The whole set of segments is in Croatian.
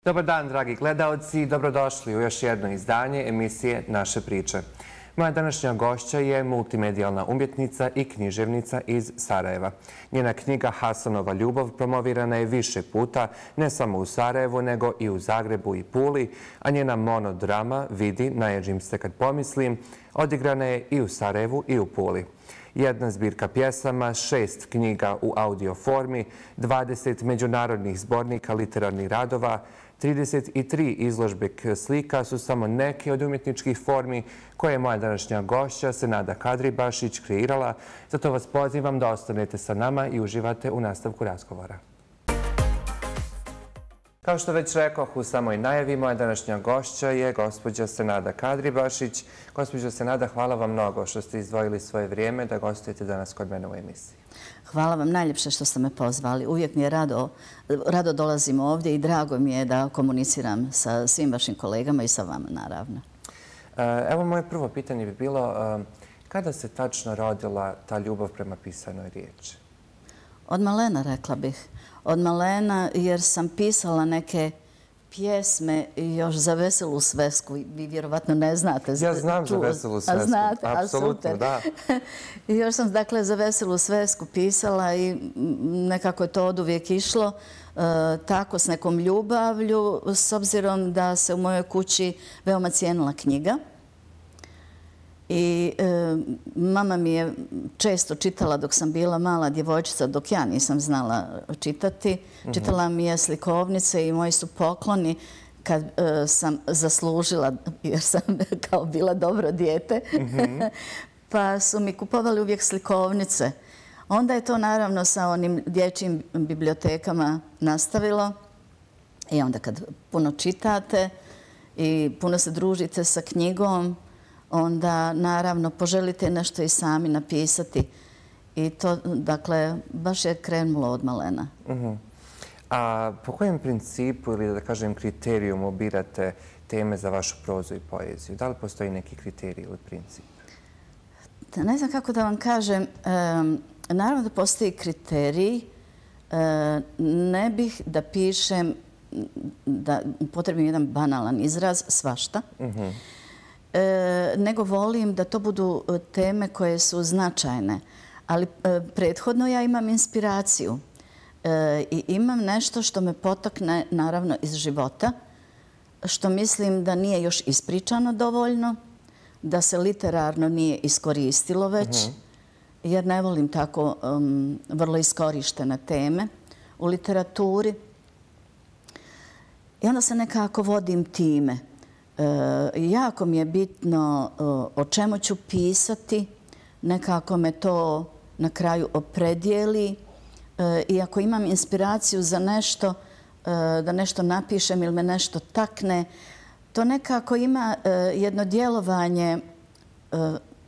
Dobar dan, dragi gledaoci, dobrodošli u još jedno izdanje emisije Naše priče. Moja današnja gošća je multimedijalna umjetnica i književnica iz Sarajeva. Njena knjiga Hasanova ljubav promovirana je više puta, ne samo u Sarajevu, nego i u Zagrebu i Puli, a njena monodrama Vidi, naježim se kad pomislim, odigrana je i u Sarajevu i u Puli. Jedna zbirka pjesama, 6 knjiga u audio formi, 20 međunarodnih zbornika literarnih radova, 33 izložbe slika su samo neke od umjetničkih formi koje je moja današnja gošća Senada Kadribašić kreirala. Zato vas pozivam da ostanete sa nama i uživate u nastavku razgovora. Kao što već rekoh u samoj najavi, moja današnja gošća je gospođa Senada Kadribašić. Gospođo Senada, hvala vam mnogo što ste izdvojili svoje vrijeme da gostujete danas kod mene u emisiji. Hvala vam najljepše što ste me pozvali. Uvijek mi je rado dolazim ovdje i drago mi je da komuniciram sa svim vašim kolegama i sa vama, naravno. Evo, moje prvo pitanje bi bilo kada se tačno rodila ta ljubav prema pisanoj riječi? Od malena, rekla bih. Od malena, jer sam pisala neke pjesme još za Veselu svesku. Vi vjerovatno ne znate. Ja znam za Veselu svesku. Znate, apsolutno, da. Još sam, dakle, za Veselu svesku pisala i nekako je to oduvijek išlo tako s nekom ljubavlju, s obzirom da se u mojoj kući veoma cijenila knjiga. I mama mi je često čitala dok sam bila mala djevojčica, dok ja nisam znala čitati. Čitala mi je slikovnice i moji su pokloni kad sam zaslužila, jer sam kao bila dobro dijete, pa su mi kupovali uvijek slikovnice. Onda je to naravno sa onim dječjim bibliotekama nastavilo. I onda kad puno čitate i puno se družite sa knjigom, onda naravno poželite nešto i sami napisati. I to, dakle, baš je krenulo od malena. A po kojem principu ili, da kažem, kriterijum birate teme za vašu prozu i poeziju? Da li postoji neki kriterij ili princip? Ne znam kako da vam kažem. Naravno da postoji kriterij. Ne bih da pišem, da upotrebim jedan banalan izraz, svašta. Nego volim da to budu teme koje su značajne. Ali prethodno ja imam inspiraciju i imam nešto što me potakne, naravno, iz života, što mislim da nije još ispričano dovoljno, da se literarno nije iskoristilo već, jer ne volim tako vrlo iskorištene teme u literaturi. I onda se nekako vodim time. Jako mi je bitno o čemu ću pisati, nekako me to na kraju opredijeli i ako imam inspiraciju za nešto, da nešto napišem ili me nešto takne, to nekako ima jedno djelovanje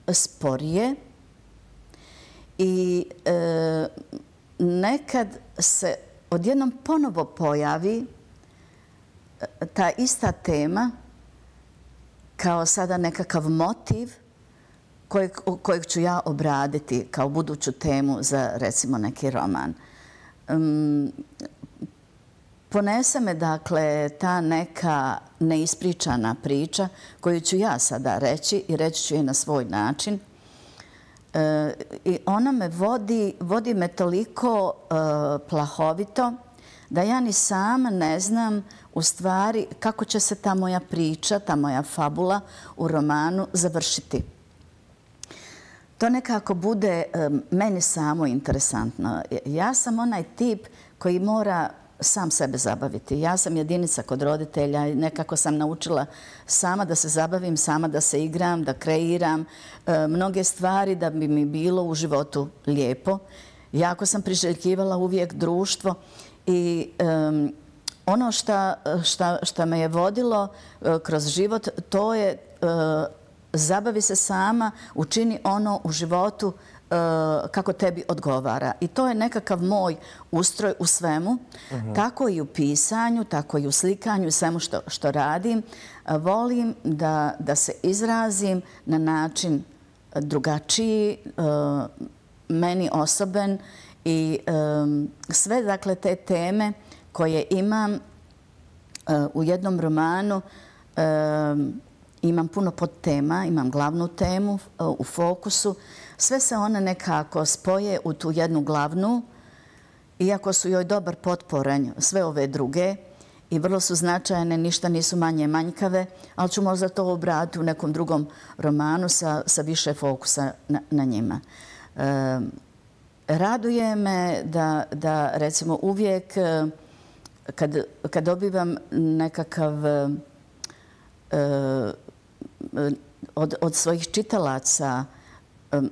sporije i nekad se odjednom ponovo pojavi ta ista tema kao sada nekakav motiv kojeg ću ja obraditi kao buduću temu za, recimo, neki roman. Ponese me, dakle, ta neka neispričana priča koju ću ja sada reći i reći ću je na svoj način. I ona me vodi me toliko plahovito da ja ni sama ne znam u stvari kako će se ta moja priča, ta moja fabula u romanu završiti. To nekako bude meni samo interesantno. Ja sam onaj tip koji mora sam sebe zabaviti. Ja sam jedinica kod roditelja i nekako sam naučila sama da se zabavim, sama da se igram, da kreiram mnoge stvari da bi mi bilo u životu lijepo. Jako sam priželjkivala uvijek društvo i ono što me je vodilo kroz život, to je zabavi se sama, učini ono u životu kako tebi odgovara. I to je nekakav moj ustroj u svemu. Tako i u pisanju, tako i u slikanju, svemu što radim. Volim da se izrazim na način drugačiji, meni osoben i sve, dakle, te teme koje imam U jednom romanu imam puno podtema, imam glavnu temu u fokusu. Sve se one nekako spoje u tu jednu glavnu, iako su joj dobar potporanj sve ove druge i vrlo su značajne, ništa nisu manje manjkave, ali ću možda to obratiti u nekom drugom romanu sa više fokusa na njima. Raduje me da recimo uvijek kad dobivam nekakav od svojih čitalaca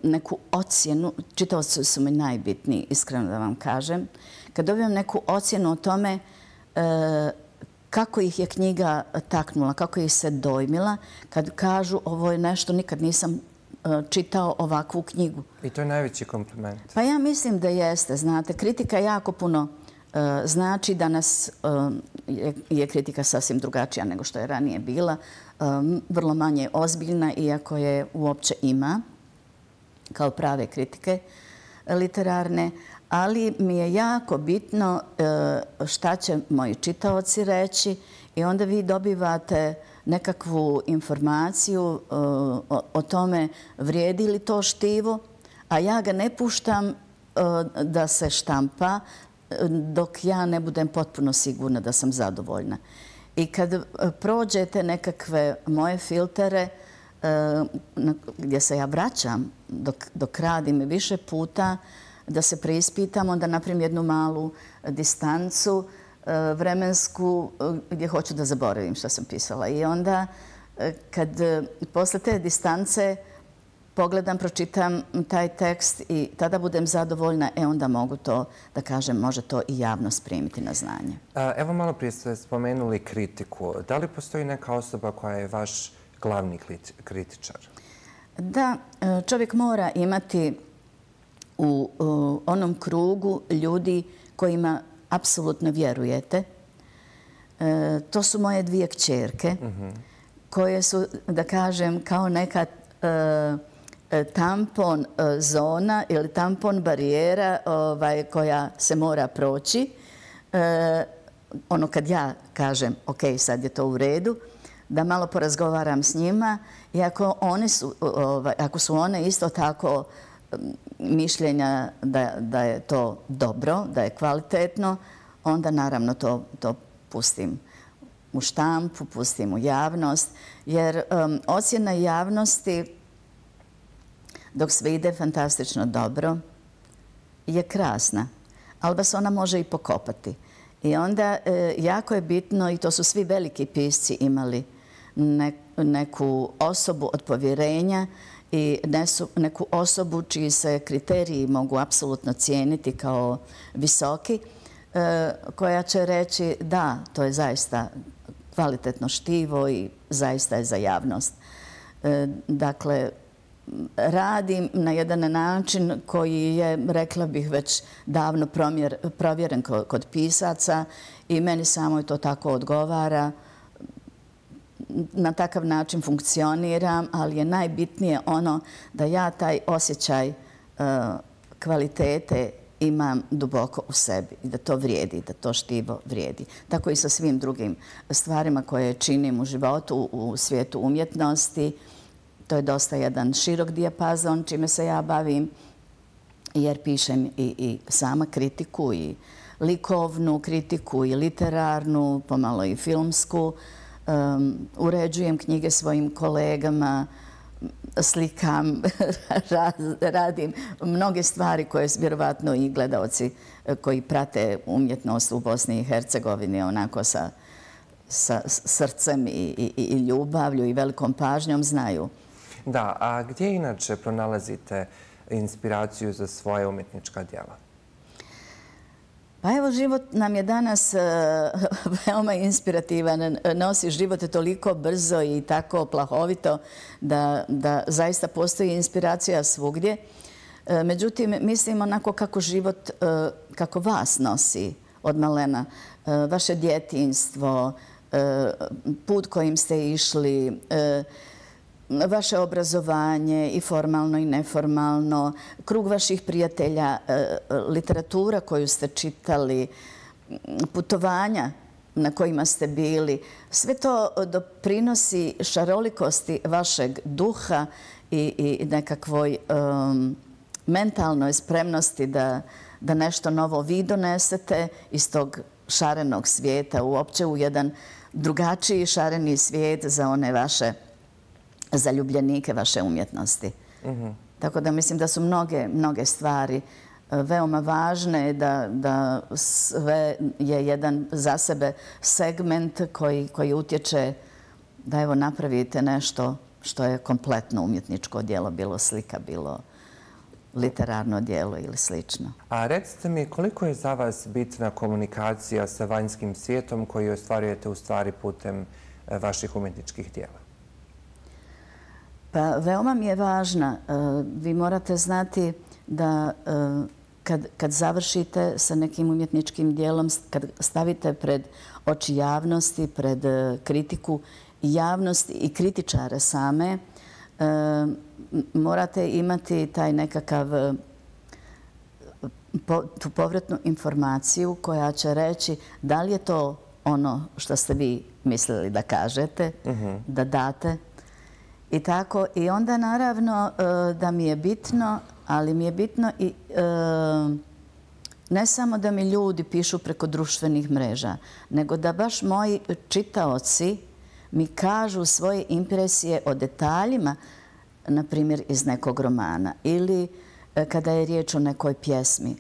neku ocjenu, čitaoci su mi najbitniji, iskreno da vam kažem, kad dobivam neku ocjenu o tome kako ih je knjiga taknula, kako ih se dojmila, kad kažu ovo je nešto, nikad nisam čitao ovakvu knjigu. I to je najveći kompliment. Pa ja mislim da jeste. Znate, kritika jako puno znači. Danas je kritika sasvim drugačija nego što je ranije bila. Vrlo manje ozbiljna, iako je uopće ima kao prave kritike literarne. Ali mi je jako bitno šta će moji čitaoci reći i onda vi dobivate nekakvu informaciju o tome vrijedi li to štivo, a ja ga ne puštam da se štampa dok ja ne budem potpuno sigurna da sam zadovoljna. I kad prođete nekakve moje filtere gdje se ja vraćam dok radim više puta, da se preispitam, onda napravim jednu malu distancu vremensku gdje hoću da zaboravim što sam pisala. I onda kad posle te distance pogledam, pročitam taj tekst i tada budem zadovoljna, onda mogu to, da kažem, može to i javnost primiti na znanje. Evo malo prije ste spomenuli kritiku. Da li postoji neka osoba koja je vaš glavni kritičar? Da, čovjek mora imati u onom krugu ljudi kojima apsolutno vjerujete. To su moje dvije kćerke koje su, da kažem, kao neka tampon zona ili tampon barijera koja se mora proći. Ono kad ja kažem, ok, sad je to u redu, da malo porazgovaram s njima i ako su one isto tako mišljenja da je to dobro, da je kvalitetno, onda naravno to pustim u štampu, pustim u javnost, jer ocjena javnosti dok sve ide fantastično dobro je krasna, ali vas ona može i pokopati. I onda jako je bitno, i to su svi veliki pisci imali, neku osobu od povjerenja i neku osobu čiji se kriteriji mogu apsolutno cijeniti kao visoki, koja će reći da, to je zaista kvalitetno štivo i zaista je za javnost. Dakle, radim na jedan način koji je, rekla bih, već davno provjeren kod pisaca i meni samo to tako odgovara. Na takav način funkcioniram, ali je najbitnije ono da ja taj osjećaj kvalitete imam duboko u sebi i da to vrijedi, da to štivo vrijedi. Tako i sa svim drugim stvarima koje činim u životu, u svijetu umjetnosti. To je dosta jedan širok dijapazon čime se ja bavim, jer pišem i sama kritiku, i likovnu kritiku, i literarnu, pomalo i filmsku. Uređujem knjige svojim kolegama, slikam, radim mnoge stvari koje su vjerovatno i gledaoci koji prate umjetnost u Bosni i Hercegovini onako sa srcem i ljubavlju i velikom pažnjom znaju. Da, a gdje inače pronalazite inspiraciju za svoje umjetnička djela? Pa evo, život nam je danas veoma inspirativan. Nosi život toliko brzo i tako plahovito da zaista postoji inspiracija svugdje. Međutim, mislim onako kako život, kako vas nosi od malena. Vaše djetinjstvo, put kojim ste išli, vaše obrazovanje i formalno i neformalno, krug vaših prijatelja, literatura koju ste čitali, putovanja na kojima ste bili. Sve to doprinosi šarolikosti vašeg duha i nekakvoj mentalnoj spremnosti da nešto novo vi donesete iz tog šarenog svijeta uopće u jedan drugačiji šareni svijet za one vaše zaljubljenike vaše umjetnosti. Tako da mislim da su mnoge stvari veoma važne, da sve je jedan za sebe segment koji utječe da evo napravite nešto što je kompletno umjetničko djelo, bilo slika, bilo literarno djelo ili slično. A recite mi, koliko je za vas bitna komunikacija sa vanjskim svijetom koju ostvarujete u stvari putem vaših umjetničkih djela? Pa veoma mi je važna. Vi morate znati da kad završite sa nekim umjetničkim djelom, kad stavite pred oči javnosti, pred kritiku javnosti i kritičare same, morate imati taj nekakav tu povratnu informaciju koja će reći da li je to ono što ste vi mislili da kažete, da date. I tako, i onda naravno da mi je bitno, ali mi je bitno i ne samo da mi ljudi pišu preko društvenih mreža, nego da baš moji čitaoci mi kažu svoje impresije o detaljima, na primjer iz nekog romana ili kada je riječ o nekoj pjesmi,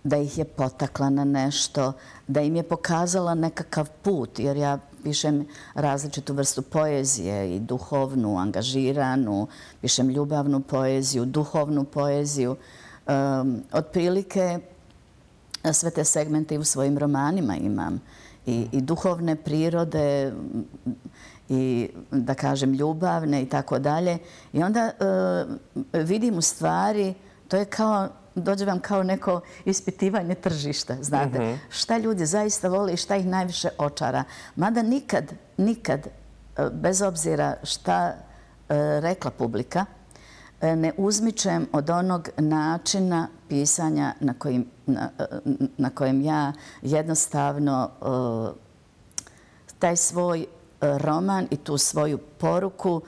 da ih je potakla na nešto, da im je pokazala nekakav put, jer ja pišem različitu vrstu poezije i duhovnu, angažiranu, pišem ljubavnu poeziju, duhovnu poeziju. Otprilike sve te segmente i u svojim romanima imam. I duhovne prirode, i da kažem ljubavne i tako dalje. I onda vidim u stvari, to je kao, dođe vam kao neko ispitivanje tržišta, znate. Šta ljudi zaista vole i šta ih najviše očara. Mada nikad, bez obzira šta rekla publika, ne uzmičem od onog načina pisanja na kojem ja jednostavno taj svoj roman i tu svoju poruku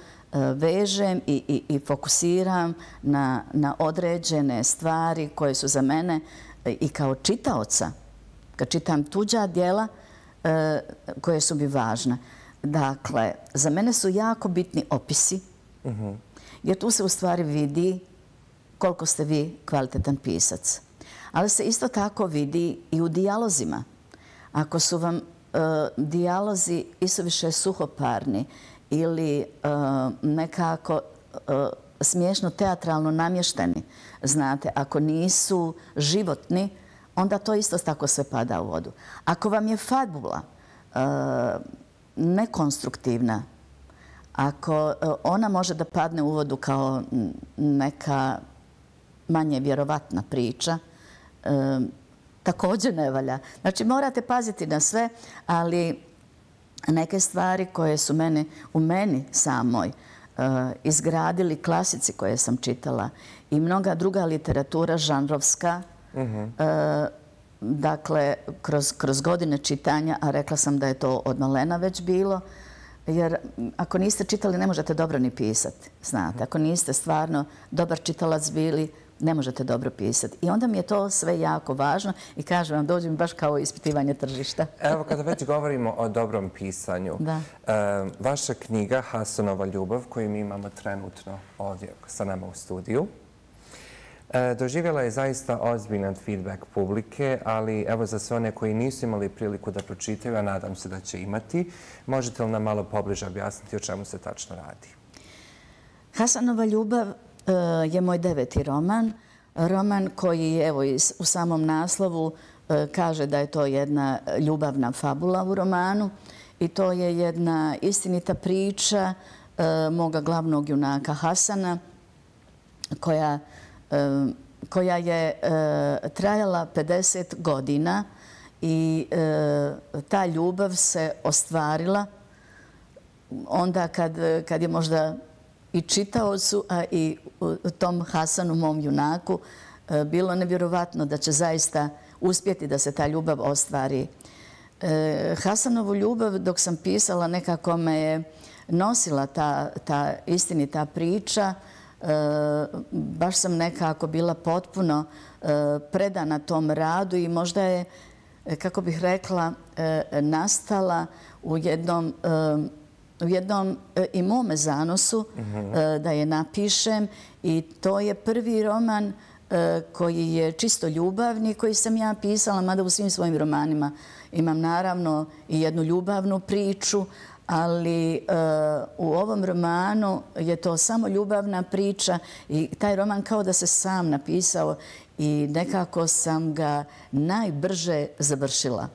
vežem i fokusiram na određene stvari koje su za mene i kao čitaoca, kad čitam tuđa djela, koje su mi važne. Dakle, za mene su jako bitni opisi, jer tu se u stvari vidi koliko ste vi kvalitetan pisac. Ali se isto tako vidi i u dijalozima. Ako su vam dijalozi isuviše suhoparni ili nekako smiješno teatralno namješteni, znate, ako nisu životni, onda to isto tako sve pada u vodu. Ako vam je fabula nekonstruktivna, ako ona može da padne u vodu kao neka manje vjerovatna priča, također ne valja. Znači, morate paziti na sve, ali neke stvari koje su u meni samoj izgradili klasici koje sam čitala i mnoga druga literatura žanrovska, dakle, kroz godine čitanja, a rekla sam da je to od malena već bilo, jer ako niste čitali, ne možete dobro ni pisati, znate. Ako niste stvarno dobar čitalac bili, ne možete dobro pisati. I onda mi je to sve jako važno i kažem vam, dođe mi baš kao ispitivanje tržišta. Evo, kada već govorimo o dobrom pisanju, vaša knjiga Hasanova ljubav, koju mi imamo trenutno ovdje sa nama u studiju, doživjela je zaista ozbiljan feedback publike, ali evo za sve one koji nisu imali priliku da pročitaju, a nadam se da će imati, možete li nam malo pobliže objasniti o čemu se tačno radi? Hasanova ljubav je moj 9. roman. Roman koji, evo, u samom naslovu kaže da je to jedna ljubavna fabula u romanu i to je jedna istinita priča moga glavnog junaka Hasana koja je trajala 50 godina i ta ljubav se ostvarila onda kad je možda i čitaocu, a i tom Hasanu, mom junaku, bilo nevjerovatno da će zaista uspjeti da se ta ljubav ostvari. Hasanovu ljubav dok sam pisala nekako me je nosila ta istinita priča. Baš sam nekako bila potpuno predana tom radu i možda je, kako bih rekla, nastala u jednom i mome zanosu da je napišem i to je prvi roman koji je čisto ljubavni, koji sam ja pisala, mada u svim svojim romanima imam naravno i jednu ljubavnu priču, ali u ovom romanu je to samo ljubavna priča i taj roman kao da se sam napisao i nekako sam ga najbrže završila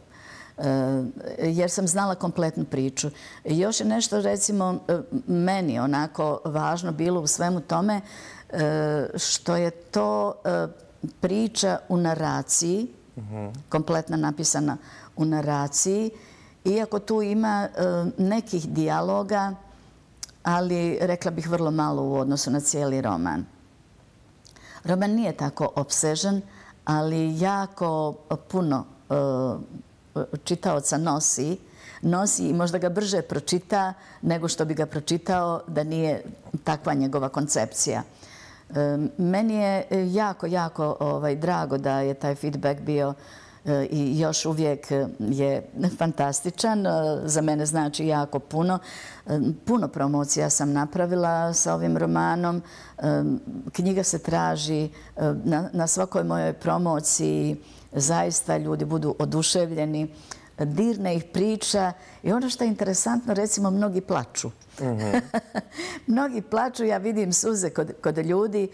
jer sam znala kompletnu priču. Još je nešto, recimo, meni onako važno bilo u svemu tome, što je to priča u naraciji, kompletno napisana u naraciji, iako tu ima nekih dijaloga, ali rekla bih vrlo malo u odnosu na cijeli roman. Roman nije tako opsežan, ali jako puno čitaoca nosi i možda ga brže pročita nego što bi ga pročitao da nije takva njegova koncepcija. Meni je jako, jako drago da je taj feedback bio i još uvijek je fantastičan. Za mene znači jako puno. Puno promocija sam napravila sa ovim romanom. Knjiga se traži na svakoj mojoj promociji. Zaista ljudi budu oduševljeni. Dirne ih priča i ono što je interesantno, recimo, mnogi plaču. Mnogi plaču, ja vidim suze kod ljudi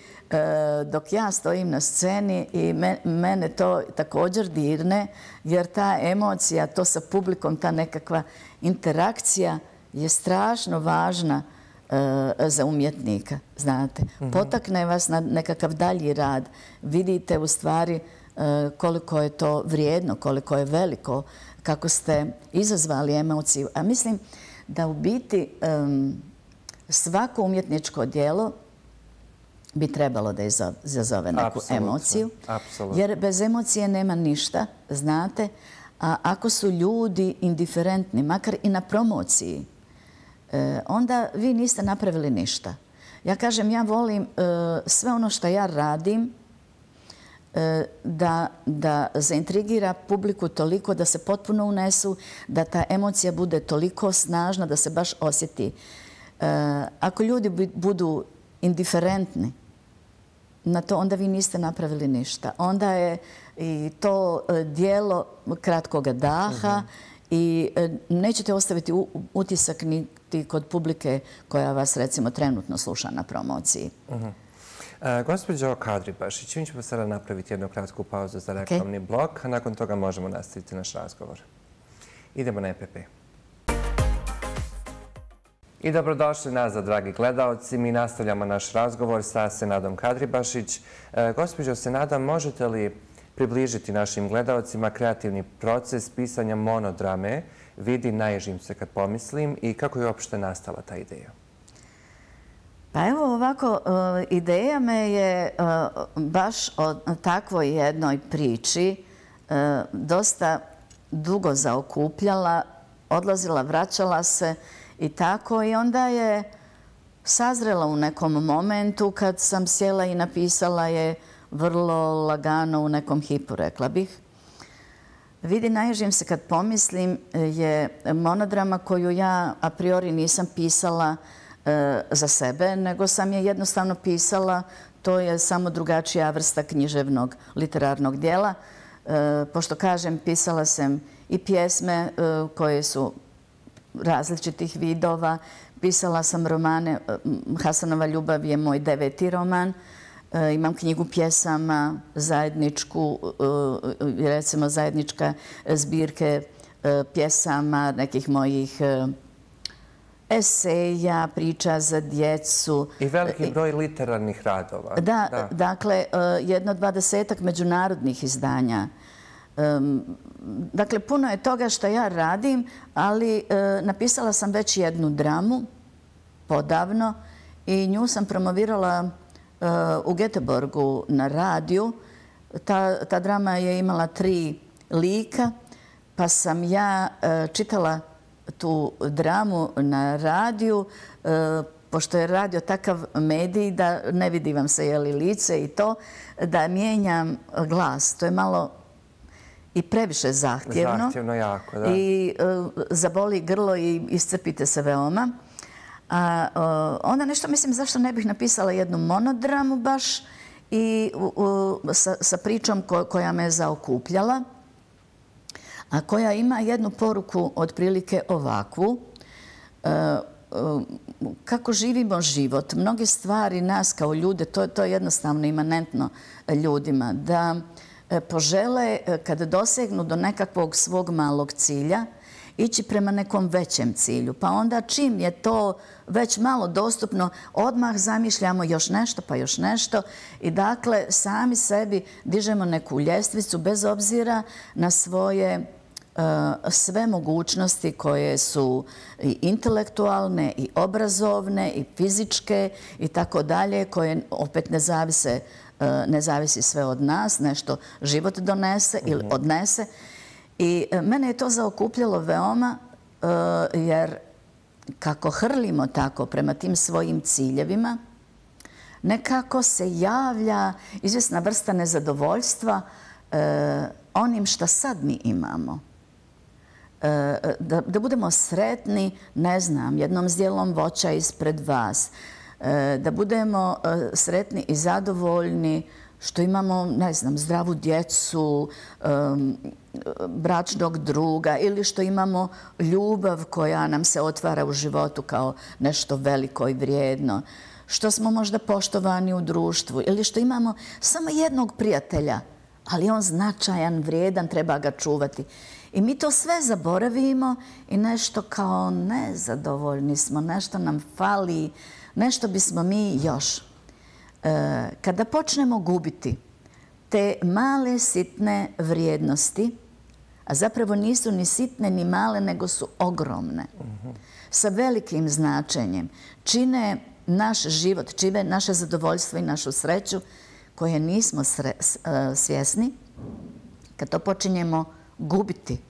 dok ja stojim na sceni i mene to također dirne, jer ta emocija, to sa publikom, ta nekakva interakcija je strašno važna za umjetnika, znate. Potakne vas na nekakav dalji rad. Vidite u stvari koliko je to vrijedno, koliko je veliko, kako ste izazvali emociju. A mislim da u biti svako umjetničko djelo bi trebalo da izazove neku emociju. Jer bez emocije nema ništa, znate. A ako su ljudi indiferentni, makar i na promociji, onda vi niste napravili ništa. Ja kažem, ja volim sve ono što ja radim da zaintrigira publiku toliko da se potpuno unesu, da ta emocija bude toliko snažna da se baš osjeti. Ako ljudi budu indiferentni na to, onda vi niste napravili ništa. Onda je i to djelo kratkoga daha i nećete ostaviti utisak niti kod publike koja vas, recimo, trenutno sluša na promociji. Gospođo Kadribašić, mi ćemo sada napraviti jednu kratku pauzu za reklamni blok, a nakon toga možemo nastaviti naš razgovor. Idemo na EPP. I dobrodošli nazad, dragi gledaoci. Mi nastavljamo naš razgovor sa Senadom Kadribašić. Gospođo Senada, možete li približiti našim gledaocima kreativni proces pisanja monodrame Vidi, naježim se kad pomislim i kako je uopšte nastala ta ideja? Pa evo ovako, ideja me je baš o takvoj jednoj priči dosta dugo zaokupljala, odlazila, vraćala se i tako, i onda je sazrela u nekom momentu kad sam sjela i napisala je vrlo lagano u nekom hipu, rekla bih. Vidi, naježim se kad pomislim je monodrama koju ja a priori nisam pisala za sebe, nego sam je jednostavno pisala. To je samo drugačija vrsta književnog literarnog dijela. Pošto kažem, pisala sam i pjesme koje su različitih vidova. Pisala sam romane. Hasanova ljubav je moj 9. roman. Imam knjigu pjesama, zajedničku, recimo zajednička zbirke pjesama, nekih mojih eseja, priča za djecu. I veliki broj literarnih radova. Da, dakle, jedno 20-ak međunarodnih izdanja. Dakle, puno je toga što ja radim, ali napisala sam već jednu dramu, podavno, i nju sam promovirala u Göteborgu na radiju. Ta drama je imala 3 lika, pa sam ja čitala tu dramu na radiju, pošto je radio takav medij da ne vidi vam se lice i to, da mijenjam glas. To je malo i previše zahtjevno. Zahtjevno jako, da. I zaboli grlo i iscrpite se veoma. Onda nešto mislim zašto ne bih napisala jednu monodramu baš i sa pričom koja me zaokupljala, a koja ima jednu poruku otprilike ovakvu. Kako živimo život, mnoge stvari nas kao ljude, to je jednostavno imanentno ljudima, da požele kada dosegnu do nekakvog svog malog cilja ići prema nekom većem cilju. Pa onda čim je to već malo dostupno, odmah zamišljamo još nešto pa još nešto i dakle sami sebi dižemo neku ljestvicu bez obzira na svoje sve mogućnosti koje su i intelektualne i obrazovne i fizičke i tako dalje, koje opet ne zavisi sve od nas, nešto život donese ili odnese. I mene je to zaokupljalo veoma jer kako hrlimo tako prema tim svojim ciljevima, nekako se javlja izvjesna vrsta nezadovoljstva onim što sad mi imamo. Da budemo sretni, ne znam, jednom zdjelom voća ispred vas. Da budemo sretni i zadovoljni što imamo, ne znam, zdravu djecu, bračnog druga ili što imamo ljubav koja nam se otvara u životu kao nešto veliko i vrijedno. Što smo možda poštovani u društvu ili što imamo samo jednog prijatelja, ali on značajan, vrijedan, treba ga čuvati. I mi to sve zaboravimo i nešto kao nezadovoljni smo, nešto nam fali, nešto bismo mi još. Kada počnemo gubiti te male sitne vrijednosti, a zapravo nisu ni sitne ni male, nego su ogromne, sa velikim značenjem, čine naš život, čine naše zadovoljstvo i našu sreću koje nismo svjesni, kad to počinjemo gubiti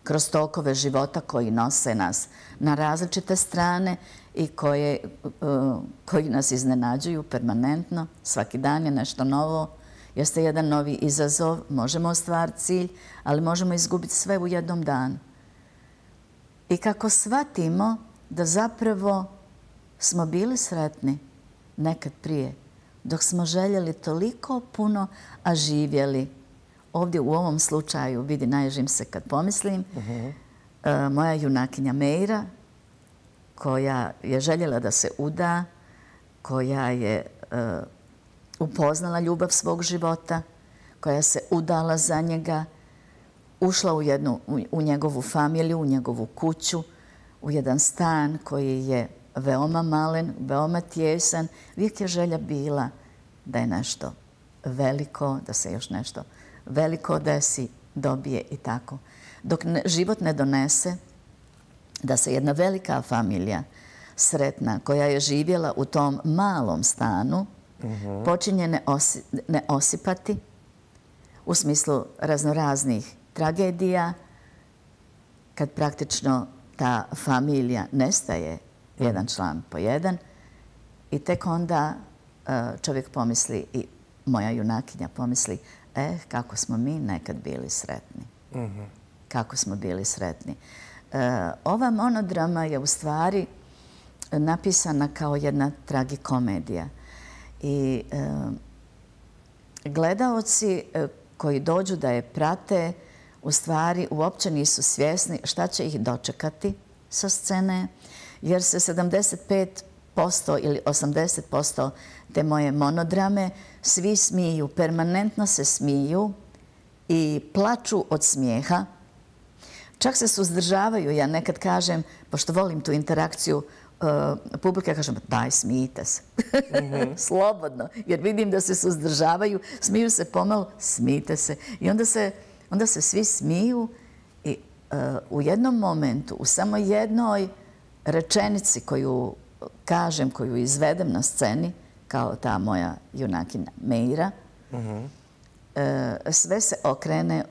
kroz tokove života koji nose nas na različite strane i koji nas iznenađuju permanentno. Svaki dan je nešto novo, jeste jedan novi izazov, možemo ostvariti cilj, ali možemo izgubiti sve u jednom danu. I kako shvatimo da zapravo smo bili sretni nekad prije, dok smo željeli toliko puno, a živjeli. Ovdje u ovom slučaju, vidi, naježim se kad pomislim, moja junakinja Meira, koja je željela da se uda, koja je upoznala ljubav svog života, koja se udala za njega, ušla u njegovu familiju, u njegovu kuću, u jedan stan koji je veoma malen, veoma tjesan. Uvijek je želja bila da je nešto veliko, da se još nešto veliko desi, dobije i tako. Dok život ne donese da se jedna velika familija, sretna, koja je živjela u tom malom stanu, počinje ne osipati u smislu raznoraznih tragedija, kad praktično ta familija nestaje jedan član po jedan i tek onda čovjek pomisli i moja junakinja pomisli kako smo mi nekad bili sretni. Kako smo bili sretni. Ova monodrama je u stvari napisana kao jedna tragikomedija. I gledaoci koji dođu da je prate u stvari uopće nisu svjesni šta će ih dočekati sa scene, jer se 75% ili 80% te moje monodrame svi smiju, permanentno se smiju i plaču od smijeha. Čak se suzdržavaju. Ja nekad kažem, pošto volim tu interakciju publike, kažem daj, smijte se. Slobodno. Jer vidim da se suzdržavaju, smiju se pomalo, smijte se. I onda se svi smiju i u jednom momentu, u samo jednoj rečenici koju kažem, koju izvedem na sceni, kao ta moja junakinja Meira, sve se okrene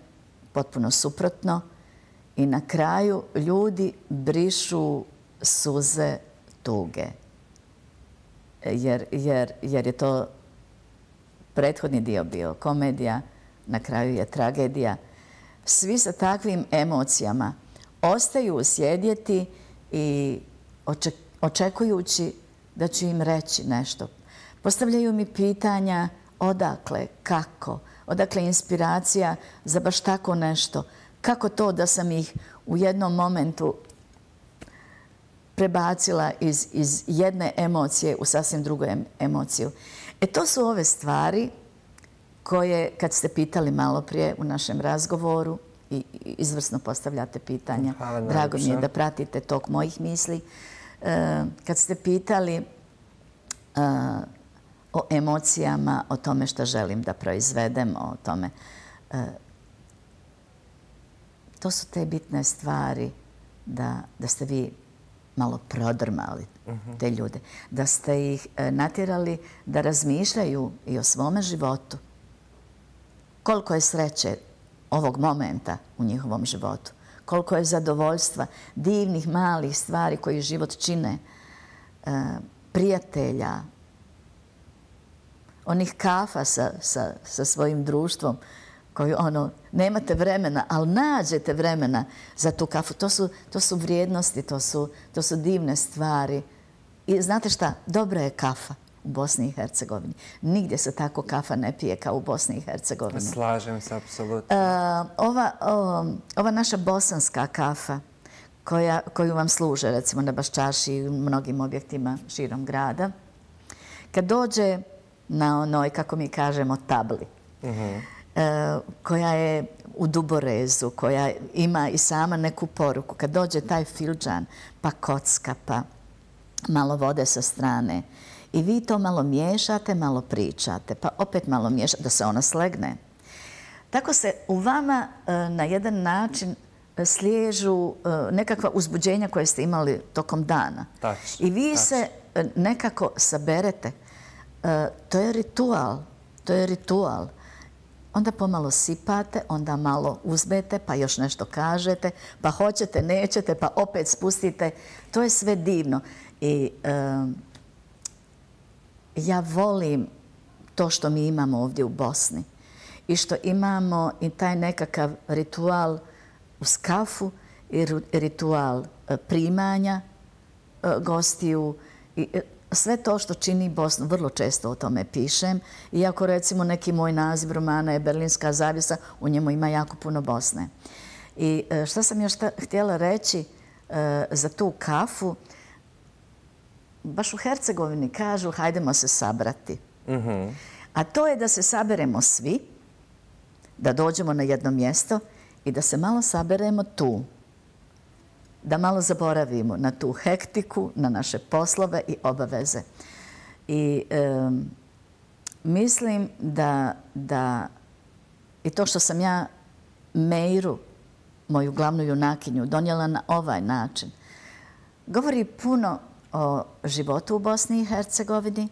potpuno suprotno I na kraju ljudi brišu suze tuge. Jer je to prethodni dio bio komedija, na kraju je tragedija. Svi sa takvim emocijama ostaju sjedjeti i očekujući da ću im reći nešto. Postavljaju mi pitanja odakle, kako, odakle inspiracija za baš tako nešto. Kako to da sam ih u jednom momentu prebacila iz jedne emocije u sasvim drugu emociju. To su ove stvari koje, kad ste pitali malo prije u našem razgovoru, i izvrsno postavljate pitanja, drago mi je da pratite tok mojih misli, kad ste pitali o emocijama, o tome što želim da proizvedem, o tome. To su te bitne stvari da ste vi malo prodrmali te ljude, da ste ih natjerali da razmišljaju i o svome životu. Koliko je sreće ovog momenta u njihovom životu, koliko je zadovoljstva, divnih malih stvari koji život čine, prijatelja, onih kafa sa svojim društvom koju nemate vremena, ali nađete vremena za tu kafu. To su vrijednosti, to su divne stvari. I znate šta? Dobra je kafa u Bosni i Hercegovini. Nigdje se tako kafa ne pije kao u Bosni i Hercegovini. Slažem se, apsolutno. Ova naša bosanska kafa koju vam služe, recimo na Baščaši i u mnogim objektima širom grada, kad dođe na onoj, kako mi kažemo, tabli, koja je u duborezu, koja ima i sama neku poruku. Kad dođe taj filđan, pa kocka, pa malo vode sa strane i vi to malo miješate, malo pričate, pa opet malo miješate, da se ona slegne. Tako se u vama na jedan način sliježu nekakva uzbuđenja koje ste imali tokom dana. I vi se nekako saberete. To je ritual. To je ritual. Onda pomalo sipate, onda malo uzmete, pa još nešto kažete, pa hoćete, nećete, pa opet spustite. To je sve divno. I ja volim to što mi imamo ovdje u Bosni i što imamo i taj nekakav ritual uz kafu i ritual primanja gostiju i sve to što čini Bosnu. Vrlo često o tome pišem. Iako recimo neki moj naziv romana je Berlinska zavjesa, u njemu ima jako puno Bosne. I šta sam još htjela reći za tu kafu, baš u Hercegovini kažu hajdemo se sabrati. A to je da se saberemo svi, da dođemo na jedno mjesto i da se malo saberemo tu. Da malo zaboravimo na tu hektiku, na naše poslove i obaveze. I mislim da i to što sam ja Meiru, moju glavnu junakinju, donijela na ovaj način, govori puno o životu u Bosni i Hercegovini,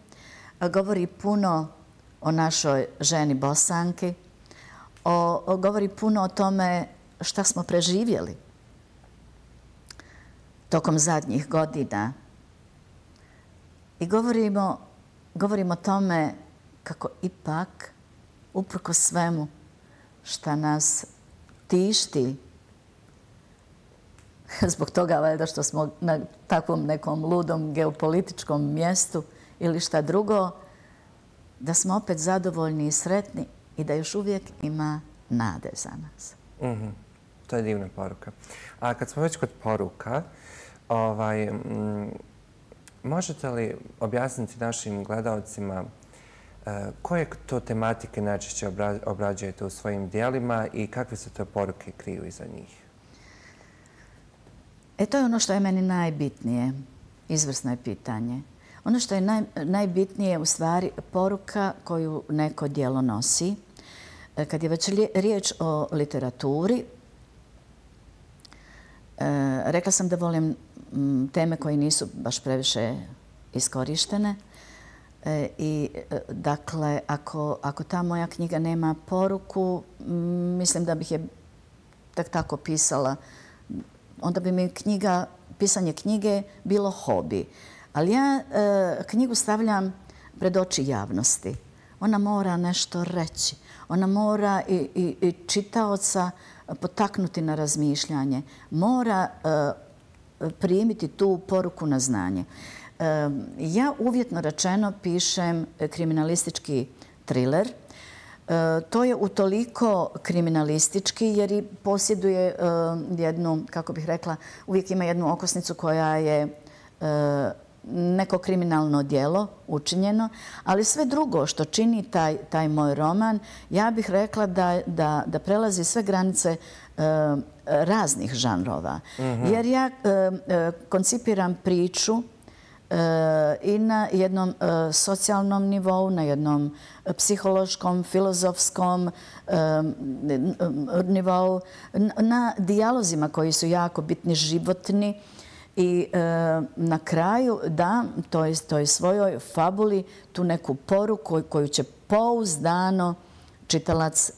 govori puno o našoj ženi Bosanki, govori puno o tome šta smo preživjeli tokom zadnjih godina. I govorimo o tome kako ipak, uprkos svemu šta nas tišti, zbog toga valjda što smo na takvom nekom ludom geopolitičkom mjestu ili šta drugo, da smo opet zadovoljni i sretni i da još uvijek ima nade za nas. To je divna poruka. A kad smo već kod poruka, možete li objasniti našim gledalcima koje to tematike najčešće obrađujete u svojim dijelima i kakve se to poruke kriju iza njih? To je ono što je meni najbitnije. Izvrsno je pitanje. Ono što je najbitnije u stvari poruka koju neko djelo nosi. Kad je već riječ o literaturi, rekla sam da volim teme koje nisu baš previše iskorištene. I dakle, ako ta moja knjiga nema poruku, mislim da bih je tako pisala onda bi mi pisanje knjige bilo hobi. Ali ja knjigu stavljam pred oči javnosti. Ona mora nešto reći. Ona mora i čitaoca potaknuti na razmišljanje. Mora primiti tu poruku na znanje. Ja uvjetno rečeno pišem kriminalistički thriller. To je utoliko kriminalistički jer i posjeduje jednu, kako bih rekla, uvijek ima jednu okosnicu koja je neko kriminalno djelo učinjeno, ali sve drugo što čini taj moj roman, ja bih rekla da prelazi sve granice raznih žanrova. Jer ja koncipiram priču i na jednom socijalnom nivou, na jednom psihološkom, filozofskom nivou, na dijalozima koji su jako bitni, životni. I na kraju dam toj svojoj fabuli tu neku poruku koju će pouzdano čitalac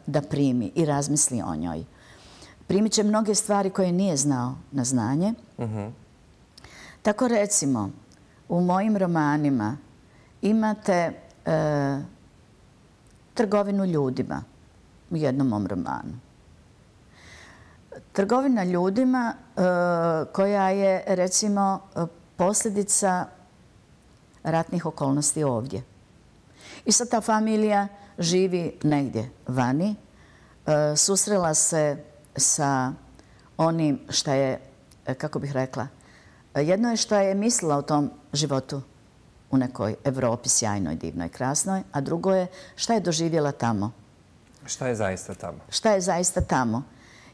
da primi i razmisli o njoj. Primit će mnoge stvari koje nije znao na znanje. Tako recimo, u mojim romanima imate trgovinu ljudima u jednom mom romanu. Trgovina ljudima koja je, recimo, posljedica ratnih okolnosti ovdje. I sad ta familija živi negdje vani, susrela se sa onim što je, kako bih rekla, jedno je što je mislila o tom životu u nekoj Evropi sjajnoj, divnoj, krasnoj, a drugo je šta je doživjela tamo. Šta je zaista tamo? Šta je zaista tamo.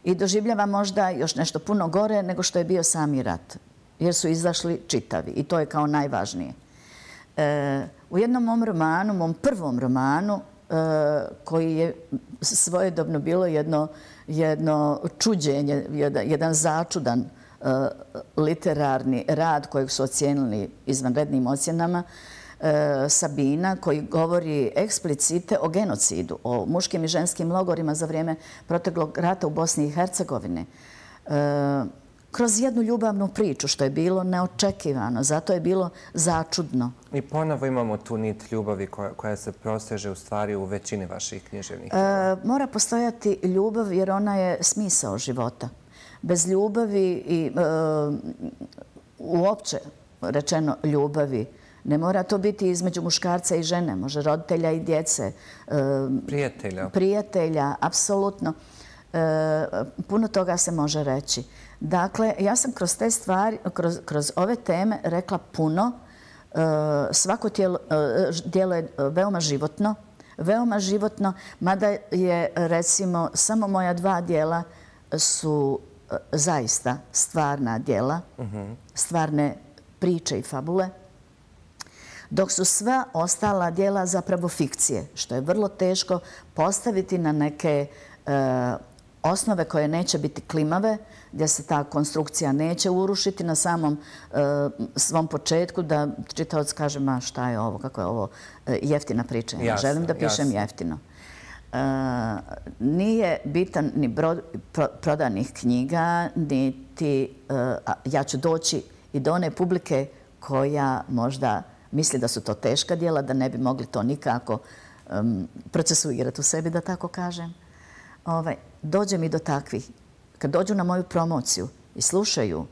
I doživljava možda još nešto puno gore nego što je bio sami rat. Jer su izašli čitavi i to je kao najvažnije. U jednom mom romanu, mom prvom romanu, koji je svojedobno bilo jedno čuđenje, jedan začudan literarni rad kojeg su ocijenili izvanrednim ocjenama, Sabina, koji govori eksplicite o genocidu, o muškim i ženskim logorima za vrijeme proteklog rata u Bosni i Hercegovini. Kroz jednu ljubavnu priču, što je bilo neočekivano, zato je bilo začudno. I ponovo imamo tu nit ljubavi koja se prosteže u stvari u većini vaših književnih. Mora postojati ljubav jer ona je smisao života. Bez ljubavi i uopće rečeno ljubavi, ne mora to biti između muškarca i žene, može roditelja i djece. Prijatelja, apsolutno. Puno toga se može reći. Dakle, ja sam kroz te stvari, kroz ove teme rekla puno. Svako djelo je veoma životno, mada je, recimo, samo moja 2 djela su zaista stvarna djela, stvarne priče i fabule, dok su sva ostala djela zapravo fikcije, što je vrlo teško postaviti na neke osnove koje neće biti klimave, gdje se ta konstrukcija neće urušiti na samom svom početku, da čitalac kaže, ma šta je ovo, kako je ovo jeftina priča. Ja želim da pišem jeftino. Nije bitan ni broj prodanih knjiga, niti ja ću doći i do one publike koja možda misli da su to teška djela, da ne bi mogli to nikako procesuirati u sebi, da tako kažem. Dođe mi do takvih. Kad dođu na moju promociju i slušaju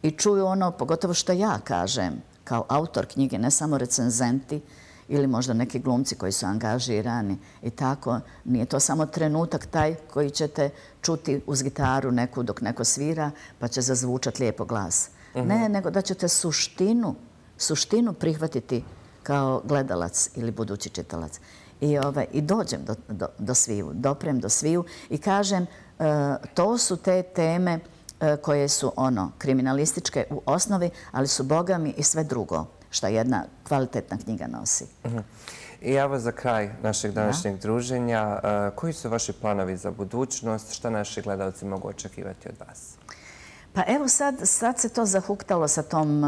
i čuju ono, pogotovo što ja kažem, kao autor knjige, ne samo recenzenti ili možda neki glumci koji su angažirani i tako, nije to samo trenutak taj koji ćete čuti uz gitaru neku dok neko svira pa će zazvučati lijepo glas. Ne, nego da ćete suštinu prihvatiti kao gledalac ili budući čitalac. I dođem do sviju, doprem do sviju i kažem, to su te teme koje su kriminalističke u osnovi, ali su bogami i sve drugo što jedna kvalitetna knjiga nosi. I evo za kraj našeg današnjeg druženja, koji su vaši planovi za budućnost? Šta naši gledalci mogu očekivati od vas? Pa evo sad se to zahuktalo sa tom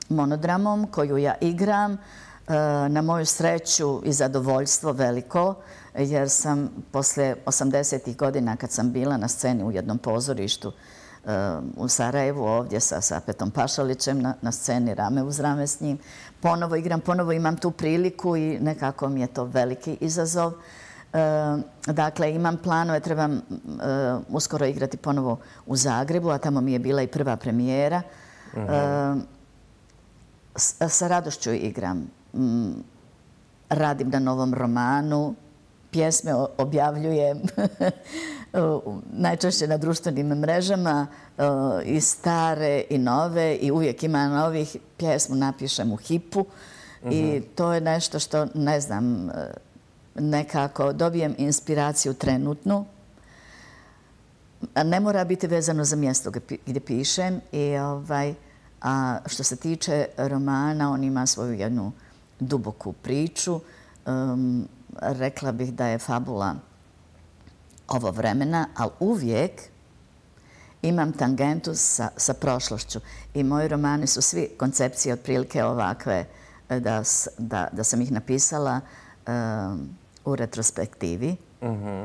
monodramom koju ja igram. Na moju sreću i zadovoljstvo veliko, jer sam posle 80. godina kad sam bila na sceni u jednom pozorištu u Sarajevu, ovdje sa Petom Pašalićem na sceni rame uz rame s njim, ponovo igram, ponovo imam tu priliku i nekako mi je to veliki izazov. Dakle, imam planove, trebam uskoro igrati ponovo u Zagrebu, a tamo mi je bila i prva premijera. Sa radošću igram. Radim na novom romanu, pjesme objavljujem najčešće na društvenim mrežama, i stare i nove, i uvijek ima novih. Pjesmu napišem u hipu i to je nešto što, ne znam, nekako dobijem inspiraciju trenutnu. Ne mora biti vezano za mjesto gdje pišem. A što se tiče romana, on ima svoju jednu duboku priču. Rekla bih da je fabula ovo vremena, ali uvijek imam tangentu sa prošlošću. I moji romani su svi koncepcije otprilike ovakve, da sam ih napisala u retrospektivi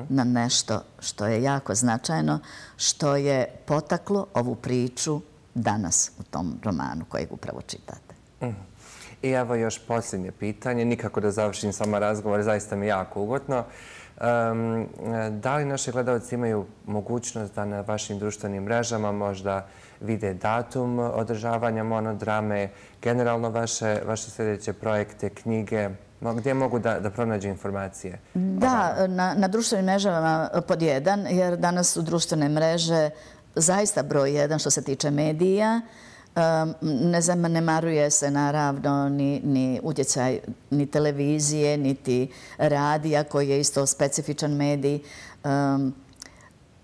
na nešto što je jako značajno, što je potaklo ovu priču danas u tom romanu kojeg upravo čitate. I evo još posljednje pitanje, nikako da završim s vama razgovor, zaista mi je jako ugodno. Da li naši gledalci imaju mogućnost da na vašim društvenim mrežama možda vide datum održavanja monodrame, generalno vaše sljedeće projekte, knjige, gdje mogu da pronađu informacije? Da, na društvenim mrežama pod jedan, jer danas su društvene mreže zaista broj jedan što se tiče medija. Ne zanemaruje se naravno ni utjecaj ni televizije, niti radija koji je isto specifičan medij.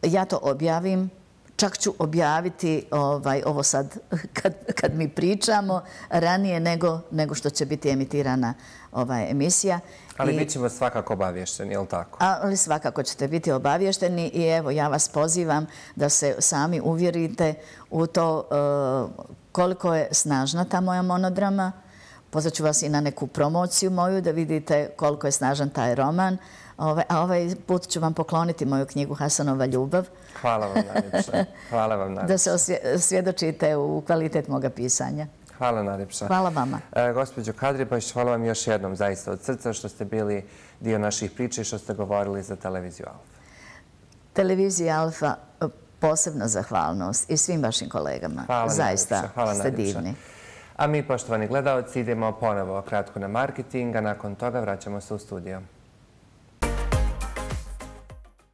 Ja to objavim. Čak ću objaviti ovo sad kad mi pričamo ranije nego što će biti emitirana emisija. Ali bit ćemo svakako obavješteni, je li tako? Ali svakako ćete biti obavješteni i evo ja vas pozivam da se sami uvjerite u to koliko je snažna ta moja monodrama. Pozvat ću vas i na neku promociju moju da vidite koliko je snažan taj roman. A ovaj put ću vam pokloniti moju knjigu Hasanova ljubav. Hvala vam najljepša. Hvala vam najljepša. Da se osvjedočite u kvalitet moga pisanja. Hvala najljepša. Hvala vama. Gospođo Kadribaš, hvala vam još jednom zaista od srca što ste bili dio naših priča i što ste govorili za televiziju Alfa. Televizija Alfa, posebna zahvalnost i svim vašim kolegama. Zaista ste divni. A mi, poštovani gledalci, idemo ponovo kratko na marketing, a nakon toga vraćamo se u studio.